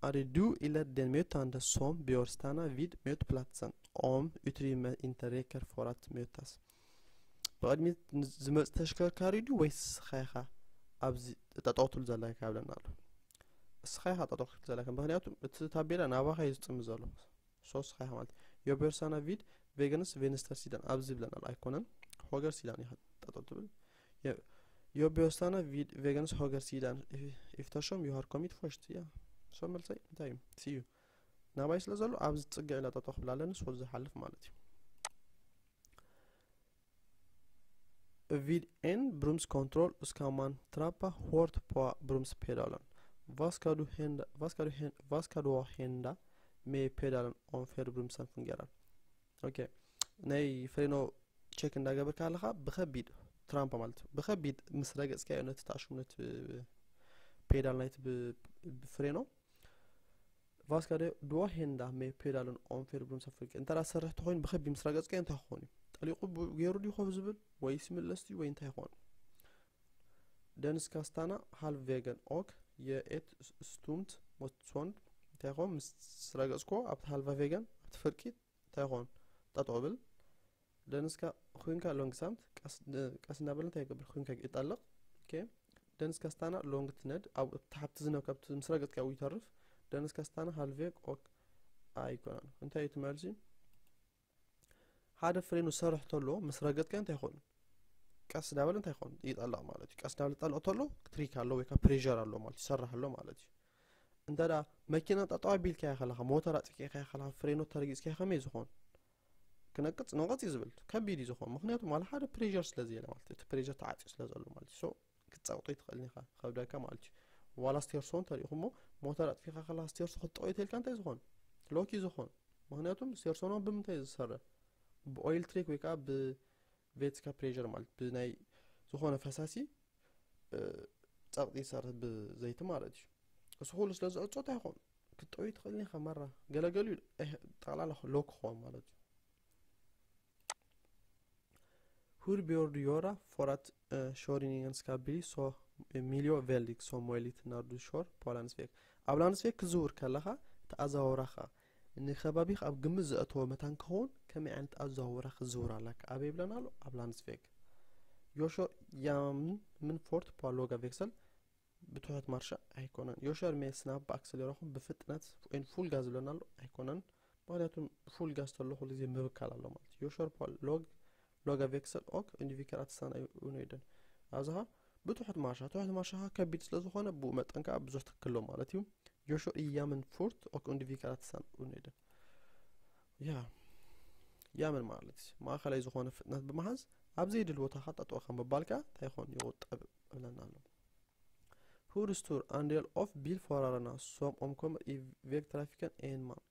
är det du eller den mötande som bör stanna vid mötplatsen om utrymme inte räcker för att mötas? ብቕድሚት ዝመጽእ ተሽከርካሪ ድዩ ወይስ ንስኻ ኢኻ ኣብዚ ጠጠው ትብል ዘለካ ይብለና ኣሎ። ንስኻ ኢኻ ጠጠው ክትብል ዘለካ፣ ምክንያቱ እቲ ታቤላ ናባኻ እዩ ዝጥምት ዘሎ። ሶ ንስኻ ኢኻ ማለት እዩ። Jag bör stanna vid vägens vänstersida ኣብዚ ይብለና ኣሎ ኣይኮነን፣ ሆገርሲዳን ኢኻ ጠጠው ትብል። Jag bör stanna vid vägens högersida eftersom jag har kommit först. ያ ሶ መልሰይ እንታይ እዩ? ሲዩ ናባይ ስለ ዘሎ ኣብዚ ጽግዕ ኢላ ጠጠው ክብል ኣለኒ፣ ሶ ዝሓልፍ ማለት እዩ። Vid en bromskontroll ska man trampa hårt på bromspedalen. Vad ska du hända, vad ska du hända, vad ska då hända med pedalen om felbromsen fungerar? ኦኬ፣ ናይ ፍሬኖ ቸክ እንዳገበርካ ኣለኻ ብኸቢድ ትራምፓ ማለት እዩ። ብኸቢድ ምስ ረገጽካዮ ነቲ ተኣሽሙ ነቲ ፔዳል ናይቲ ብ- ብፍሬኖ ቫስካደ ድዋ ሄንዳ ሜ ፔዳልን ኦንፌር ብሎም ሰፍርቂ እንተ ሰርሕ ተኾይኑ ብኸቢድ ምስ ረገጽካዮ እንታይ ክኾን እዩ? ጠሊቑ ብ- ገይሩ ድዩ ኮፍ ዝብል ወይስ ይምለስ ድዩ ወይ እንታይ ይኾን? ደንስካ ስታና ሃልቭ ቬገን ኦክ የኤት ስቱምት ሞትሶንድ እንታይ ይኾን? ምስ ረገጽኮ ኣብቲ ሃልቫ ቬገን ኣብቲ ፍርቂ እንታይ ይኾን? ጠጠው ብል። ደንስካ ኩንካ ሎንግ ሳምት ቀስ ቀስ እናበለ እንታይ ይገብር? ኩንካ ይጠልቕ። ኦኬ። ደንስካ ስታና ሎንግ ትነድ ኣብ ታሕቲ ዝነብ ካብቲ ምስ ረገጽካ ይተርፍ። ደንስካ ስታና ሃልቬግ ኦክ ኣይኮነን። እንታይ እዩ እቲ መልሲ? ሓደ ፍሬኑ ሰርሕ ተሎ ምስ ረገጽካ እንታይ ይኾን? ቀስ እንዳበለ እንታይ ይኾን? ይጠልቕ ማለት እዩ። ቀስ እንዳበለ ጠልቕ ተሎ ትሪክ ኣሎ ወይ ከዓ ፕሬሸር ኣሎ ማለት እዩ። ይሰርሕ ኣሎ ማለት እዩ። እንተ ደኣ መኪና ጠጠው ኣቢልካያ ከለኻ፣ ሞተር ኣጥፊእካያ ከለኻ፣ ፍሬኖ ተረጊጽካያ ከመይ ዝኾን? ክነቅጽ ነቐጽ እዩ ዝብል። ከቢድ እዩ ዝኾን። ምኽንያቱ ማለት ሓደ ፕሬሸር ስለ ዘየለ ማለት እዩ። እቲ ፕሬሸር ተዓጽዩ ስለ ዘሎ ማለት እዩ። ሶ ክትጸቕጦ ይትኽእል ኢኻ። ከብደካ ማለት እዩ። ዋላ ስቴርሶ እንተሪእኹሞ ሞተር ኣጥፊእካ ከለኻ ስቴርሶ ክትጠቕዮ ተልካ እንታይ ዝኾን? ሎክ እዩ ዝኾን። ምኽንያቱም ስቴርሶ ነው ብምንታይ እዩ ዝሰርሕ? ብኦይል ትሪክ ወይ ከዓ ብቬትስካ ፕሬሸር ማለት ብናይ ዝኾነ ፈሳሲ እ፣ ጸቕጢ ይሰርሕ ብዘይቲ ማለት እዩ። እሱ ኩሉ ስለ ዝዕጾ እንታይ ይኾን? ክትጠውይ ትኽእል ኢኻ ማራ። ገለገሉ እዩ፣ ኤህ፣ ጠቕላላ ሎክ ክኾን ማለት እዩ። Hur bör du göra för att eh, körningen ska bli så miljövänlig som möjligt när du kör på landsväg? ኣብ ላንድስቬግ ክዝውር ከለኻ እቲ ኣዘዋውራኻ ንከባቢኻ ኣብ ግምት ዘእተወ መታን ክኸውን ከመይ ዓይነት ኣዘዋውራ ክዝውር ኣለካ? ኣበይ ይብለና ኣሎ? ኣብ ላንድስቬግ። ዮሾ ያምን ምን ፎርት ፓ ሎጋ ቬክሰል ብትሑት ማርሻ ኣይኮነን። ዮሸር ሜ ስናፕ ኣክሰሌራኹም ብፍጥነት ወይን ፉል ጋዝ ዝብለና ኣሎ ኣይኮነን። ምክንያቱም ፉል ጋዝ ተሎ ኩሉ ግዜ ምብካል ኣሎ ማለት እዩ። ዮሸር ፓ ሎግ ሎጋ ቬክሰል ኦክ ኢንዲቪከር ኣትሳን ኡኔደን ኣብዝኻ ብትሑት ማርሻ ትሑት ማርሻ ከቢድ ስለ ዝኾነ ብኡ መጠን ከዓ ብዙሕ ትክሎ ማለት እዩ። ዮሾ እያምን ፉርት ኦክ ኢንዲቪከር ኣትሳን ኡኔደን ያ ያምን ማለት እዩ። ማእኸላይ ዝኾነ ፍጥነት ብምሓዝ ኣብ ዘይድል ቦታ ከዓ ጠጠው ካብ ምባል ከዓ እንታይ ይኾን ይቑጠብ እብለና ኣሎ። Hur stor andel av bilförarna som omkommer i vägtrafiken är en man?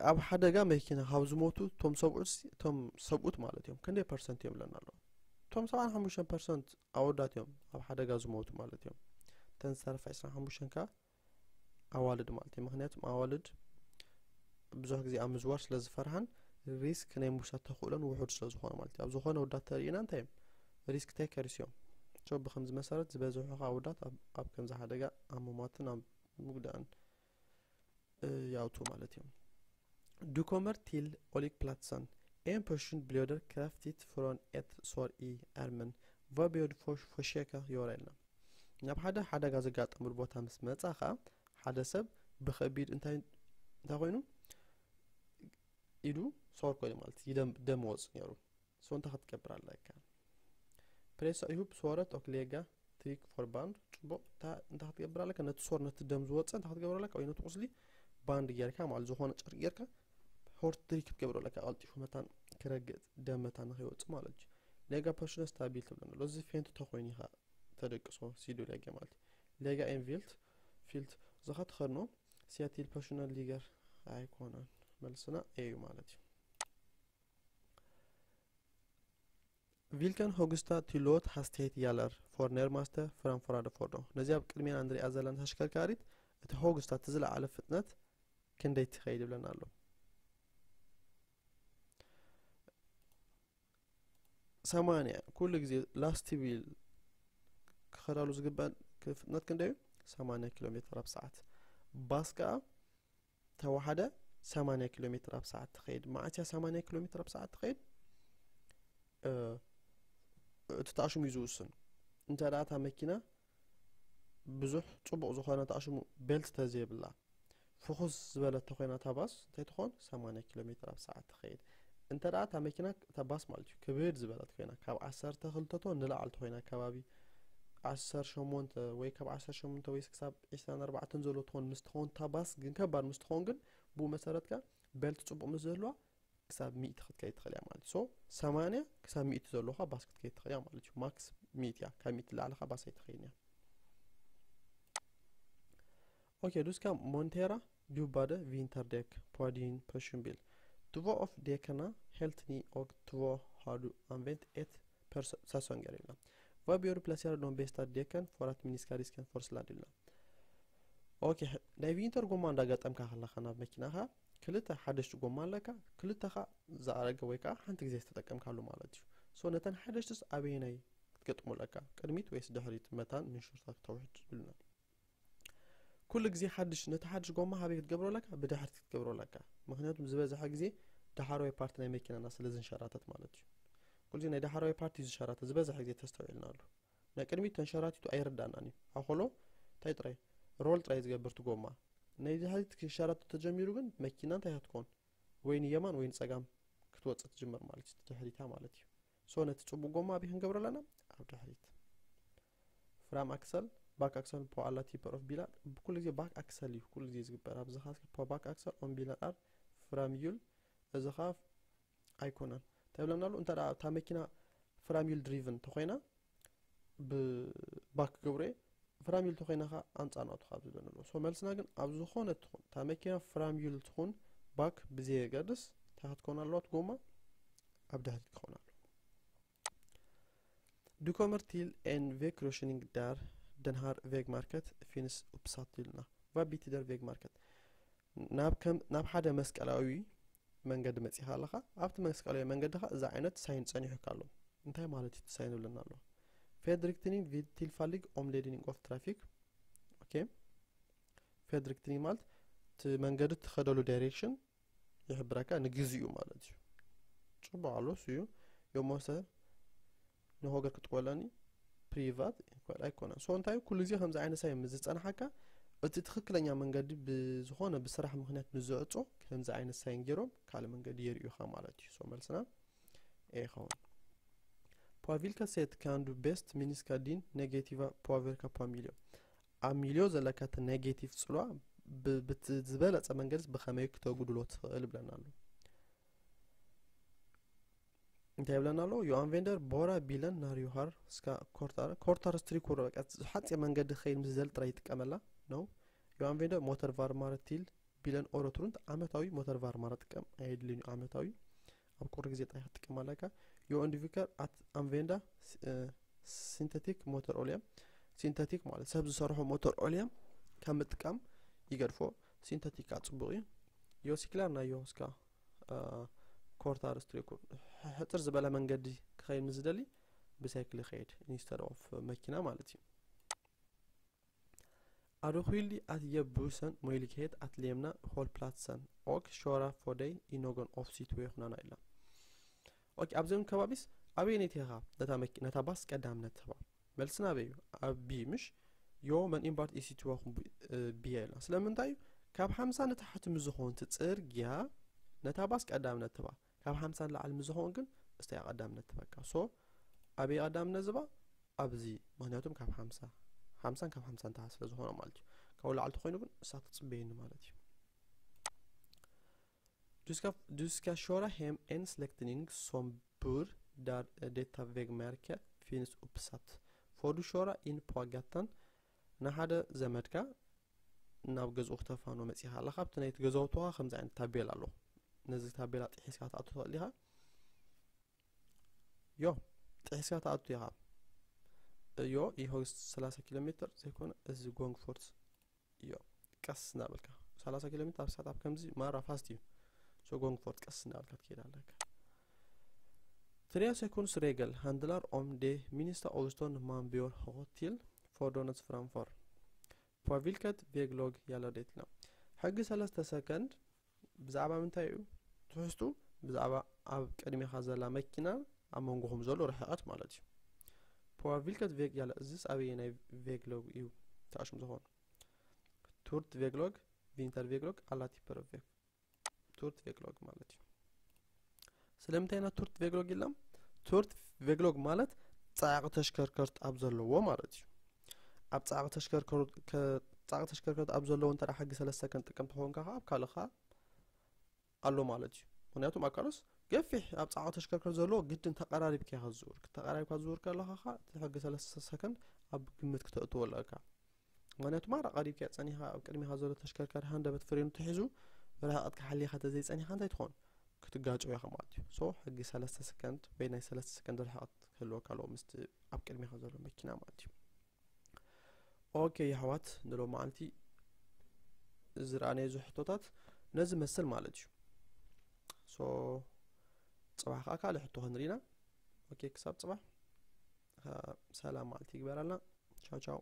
ኣብ ሓደጋ መኪና ካብ ዝሞቱ እቶም ሰብኡት እቶም ሰብኡት ማለት እዮም ክንደይ ፐርሰንት እዮም ለና ኣለዉ? እቶም ሰብዓን ሓሙሽተን ፐርሰንት ኣወዳት እዮም ኣብ ሓደጋ ዝሞቱ ማለት እዮም። እተን ዝተረፋ ዕስራን ሓሙሽተን ከ ኣዋልድ ማለት እዩ። ምክንያቱም ኣዋልድ ብዙሕ ግዜ ኣብ ምዝዋር ስለ ዝፈርሓን ሪስክ ናይ ምውሳድ ተኽእሎን ውሑድ ስለ ዝኾነ ማለት እዩ። ኣብ ዝኾነ ወዳት ተሪእና እንታይ እዮም ሪስክ ቴከርስ እዮም። ሶ ብከምዚ መሰረት ዝበዝሑ ከዓ ወዳት ኣብ- ኣብ ከምዚ ሓደጋ ኣብ ምሟትን ኣብ ምጉዳእን እ፣ ይኣትዉ ማለት እዮም። Du kommer til Olikplatsen. En person blir dødelig kraftig foran et sår i armen. Hva bør du for, forsøke gjøre? Eller? ናብ ሓደ ሓደጋ ዘጋጠመሉ ቦታ ምስ መጻኻ ሓደ ሰብ ብኸቢድ እንታይ እንታይ ኮይኑ ኢዱ ሶር ኮይኑ ማለት እዩ ደም ደም ወጽእ ነይሩ። ሶ እንታይ ክትገብር ኣለካ? Pressa ihop såret og legge trykk for band. ጽቡቕ እንታይ ክትገብር ኣለካ? ነቲ ሶር ነቲ ደም ዝወጸ እንታይ ክትገብር ኣለካ? ወይ ነቲ ቁስሊ ባንድ ጌርካ ማለት ዝኾነ ጨርቂ ጌርካ ሆርት ትሪክ ክትገብሮ ኣለካ። ቀልጢፉ መታን ክረግእ ደም መታን ንኸይወጽእ ማለት እዩ። Legge personen stabilt ትብለና ኣሎ። እዚ ፌንት ተኾይኑ ኢኻ ተደቅሶ ሲዱ ሌገ ማለት እዩ። Legge en vilt filt ዝኻ ተኸድኖ se til personen ligger ኣይኮነን። መልስና ኤ እዩ ማለት እዩ። Hvilken høyeste tillot hastighet gjelder for nærmeste framførende fordon? ነዚኣ ኣብ ቅድሜና ንሪኣ ዘለና ተሽከርካሪት እቲ ሆግስታ እቲ ዝለዓለ ፍጥነት ክንደይ ትኸይድ ይብለና ኣሎ። ሰማንያ ኩሉ ግዜ ላስቲቢል ክኸዳሉ ዝግባእ ፍጥነት ክንደይ እዩ? ሰማንያ ኪሎ ሜትር ኣብ ሰዓት። ባስ ከዓ ተዋሓደ ሰማንያ ኪሎ ሜትር ኣብ ሰዓት ትኸይድ። መዓት እያ ሰማንያ ኪሎ ሜትር ኣብ ሰዓት ትኸይድ? እቲ ተኣሽሙ እዩ ዝውስን። እንተ ደኣ እታ መኪና ብዙሕ ጽቡቕ ዝኾነ ተኣሽሙ ቤልት ተዘይብላ ፍኹስ ዝበለት ተኾይና እታ ባስ እንታይ ትኾን? ሰማንያ ኪሎ ሜትር ኣብ ሰዓት ትኸይድ። እንተ ደኣ እታ መኪና እታ ባስ ማለት እዩ ክብድ ዝበለት ኮይና ካብ ዓሰርተ ክልተ ቶን ንላዕሊ ተኾይና ከባቢ ዓሰርተ ሸሞንተ ወይ ካብ ዓሰርተ ሸሞንተ ወይ ክሳብ ዕስራን ኣርባዕተን ዘሎ ትኾን ምስ ትኾን እታ ባስ ግን ከባድ ምስ ትኾን ግን ብኡ መሰረትካ ቤልት ጽቡቕ ምስ ዘህልዋ ክሳብ ሚእቲ ክትከይድ ትኽእል እያ ማለት እዩ። So ሰማንያ ክሳብ ሚእቲ ዘለኻ ባስ ክትከይድ ትኽእል እያ ማለት እዩ። ማክስ ሚእቲ እያ፣ ካብ ሚእቲ ላዕሊ ኸዓ ባስ ኣይትኸይድን እያ። Okay, du skal montere dubbede vinterdekk på din personbil. Två av dekkene helt ny og två har du anvendt et par se- sesonger. Hva bør du plassere de beste dekkene for at minske risken for sladd? Okay, ናይ ቪንተር ጎማ እንዳጋጠምካ ከለኻ ናብ መኪናኻ ክልተ ሓደሽቲ ጎማ ኣለካ፣ ክልተኻ ዝኣረገ ወይ ከዓ ሓንቲ ግዜ ዝተጠቀምካሉ ማለት እዩ። So ነተን ሓደሽትስ ኣበየናይ ክትገጥሞ ኣለካ? ቅድሚት ወይስ ድሕሪት? መታን ምንሽርታት ተውሕድ ይብሉና። ኩሉ ግዜ ሓድሽ ነቲ ሓድሽ ጎማ ሃበይ ክትገብሮ ኣለካ? ብድሕሪት ክትገብሮ ኣለካ። ምክንያቱም ዝበዝሐ ግዜ ዳሕረዋይ ፓርቲ ናይ መኪናና ስለ ዝንሸራተት ማለት እዩ። ኩሉ ግዜ ናይ ዳሕረዋይ ፓርቲ እዩ ዝሸራተት ዝበዝሐ ግዜ ተስተውዒልናሉ። ናይ ቅድሚት ተንሸራቲቱ ኣይርዳእናን እዩ። ኣኮሎ እንታይ ጥራይ ሮል ጥራይ ዝገብር እቲ ጎማ። ናይ ድሕሪት ክሸራተት ተጀሚሩ ግን መኪና እንታይ ክትኮን ወይ ንየማን ወይ ንጸጋም ክትወጽእ ትጅምር ማለት እዩ። ድሕሪታ ማለት እዩ። So ነቲ ጽቡቕ ጎማ ኣበይ ክንገብሮ ኣለና? ኣብ ድሕሪት። ፍራም ኣክሰል፣ ባክ ኣክሰል፣ ፖ ኣላ ቲፐር ኦፍ ቢላር ብኩሉ ግዜ ባክ ኣክሰል እዩ ኩሉ ግዜ ዝግበር። ኣብዚ ኻስ ፖ ባክ ኣክሰል ኦን ቢላር ኣር ፍራም ዩል እዚ ኻፍ ኣይኮነን። እንታይ ብለና ኣሎ? እንተ ደኣ እታ መኪና ፍራም ዩል ድሪቭን ተኾይና ብባክ ክገብሮ እየ። ፍራም ዩል ተኾይና ኸዓ ኣንጻር ናቱ ካብ ዝብለና ኣሎ። So መልስና ግን ኣብ ዝኾነ ትኹን እታ መኪና ፍራም ዩል ትኹን ባክ ብዘየገድስ እንታይ ክትከውን ኣለዋ? እቲ ጎማ ኣብ ድሕሪት ክኸውን ኣለዎ። Du kommer til en veikryssning der den her veimærket finnes oppsatt. Hva betyder veimærket? ናብ ከም ናብ ሓደ መስቀላዊ መንገዲ መጺኻ ኣለኻ። ኣብቲ መስቀላዊ መንገዲ ኸዓ እዚ ዓይነት ሳይን ጸኒሑካ ኣሎ። እንታይ ማለት እዩ እቲ ሳይን ዝብለና ኣሎ? Ferdriktning vid tilfeldig omledning av trafikk. Okay, ferdriktning ማለት እቲ መንገዲ ትኸደሉ ዳይሬክሽን ይሕብረካ ንግዚኡ ማለት እዩ። ጽቡቕ ኣሎ እሱ እዩ። የሞሰ ንሆገር ክትቆለኒ ፕሪቫት ኣይኮነን። So እንታይ ኩሉ ግዜ ከምዚ ዓይነት ሳይን ምስ ዝጸንሓካ እቲ ትኽክለኛ መንገዲ ብዝኾነ ብስራሕ ምክንያት ምስ ዝዕጾ ከምዚ ዓይነት ሳይን ገይሮም ካልእ መንገዲ የርእዩኻ ማለት እዩ። So መልስና ኤ ይኸውን። På hvilket sett kan du best minske din negative påvirkning på miljøet? ኣብ ሚልዮ ዘለካ እቲ ኔጌቲቭ ጽልዋ ብዝበለጸ መንገዲ ብኸመይ ክተጉድሎ ትኽእል ይብለና ኣሎ። እንታይ ይብለና ኣሎ? Anvender bare bilen når du har skal kortere, kortere strekk. በቃ ሓጺር መንገዲ ክኸይድ ምስ ዝደሊ ጥራይ ይጥቀመላ ነው። Anvender motorvarmere til bilen året rundt. ዓመታዊ ሞተር ቫርማረ ጥቀም ኣየድልን እዩ። ዓመታዊ ኣብ ቁሪ ግዜ ጥራይ ክትጥቀም ኣለካ። Undviker at anvende syntetisk motorolje. ሲንተቲክ ማለት ሰብ ዝሰርሖ ሞተር ኦልየ ካብ ምጥቃም ይገድፎ። ሲንተቲክ ከዓ ጽቡቕ እዩ። Cykler når du skal kortere strekk. ሕጽር ዝበለ መንገዲ ክኸይድ ምስ ዝደሊ ብሳይክል ይኸይድ instead of መኪና ማለት እዩ። Adskillig at jeg bussen mulighet at lemna holdpladsen og kjører forbi i noen oppsikt ved Hunana. ኦኬ፣ ኣብዚኦም ከባቢስ ኣበየነይቲ ኢኻ ነታ መኪ-፣ ነታ ባስ ቀዳምነት ትህባ? መልስና ኣበይ እዩ? ኣብ ቢ፣ ምሽ? Jo, men enbart i situationen B, eh, B. ስለምንታይ እዩ? ካብ ሓምሳ ንታሕቲ ምስ ዝኾን እቲ ጽርግያ ነታ ባስ ቀዳምነት ትህባ። ካብ ሓምሳ ንላዕሊ ምስ ዝኾን ግን እስታ እያ ቀዳምነት ትህበካ። So ኣበይ ቀዳምነት ዝባ? ኣብዚ። ምክንያቱም ካብ ሓምሳ፣ ሓምሳን ካብ ሓምሳ ንታሕቲ ስለ ዝኾነ ማለት እዩ። ካብኡ ላዕሊ ተኾይኑ ግን እሳ ትጽበየኒ ማለት እዩ። Du skal, du skal kjøre hjem en slektning som bor der, eh, detta vägmärke finns uppsatt. Får du köra in på gatan? ንሓደ ዘመድካ ናብ ገዝኡ ክተፋኖ መጺኻ ኣለኻ። ኣብቲ ናይቲ ገዛውትኻ ከምዚ ዓይነት ታቤላ ኣሎ። ነዚ ታቤላ ጥሒስካ ትኣቱ ትኽእል ኢኻ። ዮ፣ ጥሒስካ ትኣቱ ኢኻ። ዮ፣ ይኸው ሰላሳ ኪሎ ሜትር ዘይኮነ እዚ ጎንግ ፎርት ዮ፣ ቀስ እናበልካ ሰላሳ ኪሎ ሜትር ኣብ ሰዓት ኣብ ከምዚ ማራ ፋስት እዩ። So ጎንግ ፎርት ቀስ እናበልካ ትከይድ ኣለካ። Tre sekundsregel handlar om de minsta avstånd man bör ha till fordonet framför. På vilket väglag gäller det? ሕጊ ሰለስተ ሰከንድ ብዛዕባ ምንታይ እዩ ትሕዝቱ? ብዛዕባ ኣብ ቅድሚኻ ዘላ መኪና ኣብ መንጎኹም ዘሎ ርሕቐት ማለት እዩ። På vilket väg gäller? እዚስ ኣበየናይ ቬግሎግ እዩ ተኣሽሙ ዝኾኑ? Torrt väglag, vinterväglag, alla typer av väg. Torrt väglag ማለት እዩ። ስለምንታይ ኢና torrt väglag ኢልና? Torrt väglag ማለት ጻዕቂ ተሽከርከርት ኣብ ዘለዎ ማለት እዩ። ኣብ ጻዕቂ ተሽከርከርት፣ ከ-፣ ጻዕቂ ተሽከርከርት ኣብ ዘለዎ እንተ ደኣ ሕጊ ሰለስተ ክንጥቀም ተኾንካ ኸዓ ኣብ ካልእ ኸዓ ኣሎ ማለት እዩ። ምክንያቱም ኣብ ካልኦስ ገፊሕ ኣብ ጻዕቂ ተሽከርከርት ዘለዎ ግድን ተቐራሪብካ ኢኻ ዝዝውር። ተቐራሪብካ ዝዝውር ከለኻ ኸዓ እቲ ሕጊ ሰለስተ ሰከንድ ኣብ ግምት ክተእትዎ ኣለካ። ምክንያቱ ማራ ቀሪብካ ጸኒኻ ኣብ ቅድሚኻ ዘሎ ተሽከርካሪ ሃንደበት ፍሬኑ ተሒዙ ርሕቐትካ ሓሊኻ ተዘይጸኒኻ እንታይ ትኾን? ክትጋጨው ኢኻ ማለት እዩ። So ሕጊ ሰለስተ ሰከንድ ወይ ናይ ሰለስተ ሰከንድ ርሕቐት ክህልወካ ኣለዎ ምስቲ ኣብ ቅድሚኻ ዘሎ መኪና ማለት እዩ። ኦኬ የሕዋት፣ ንሎሚ መዓልቲ ዝረኣናዮ እዚ ሕቶታት ነዚ መስል ማለት እዩ። So ጽባሕ ከዓ ካልእ ሕቶ ክንርኢ ኢና። ኦኬ፣ ክሳብ ጽባሕ፣ አ፣ ሰላም መዓልቲ ይግበረልና። ቻው ቻው።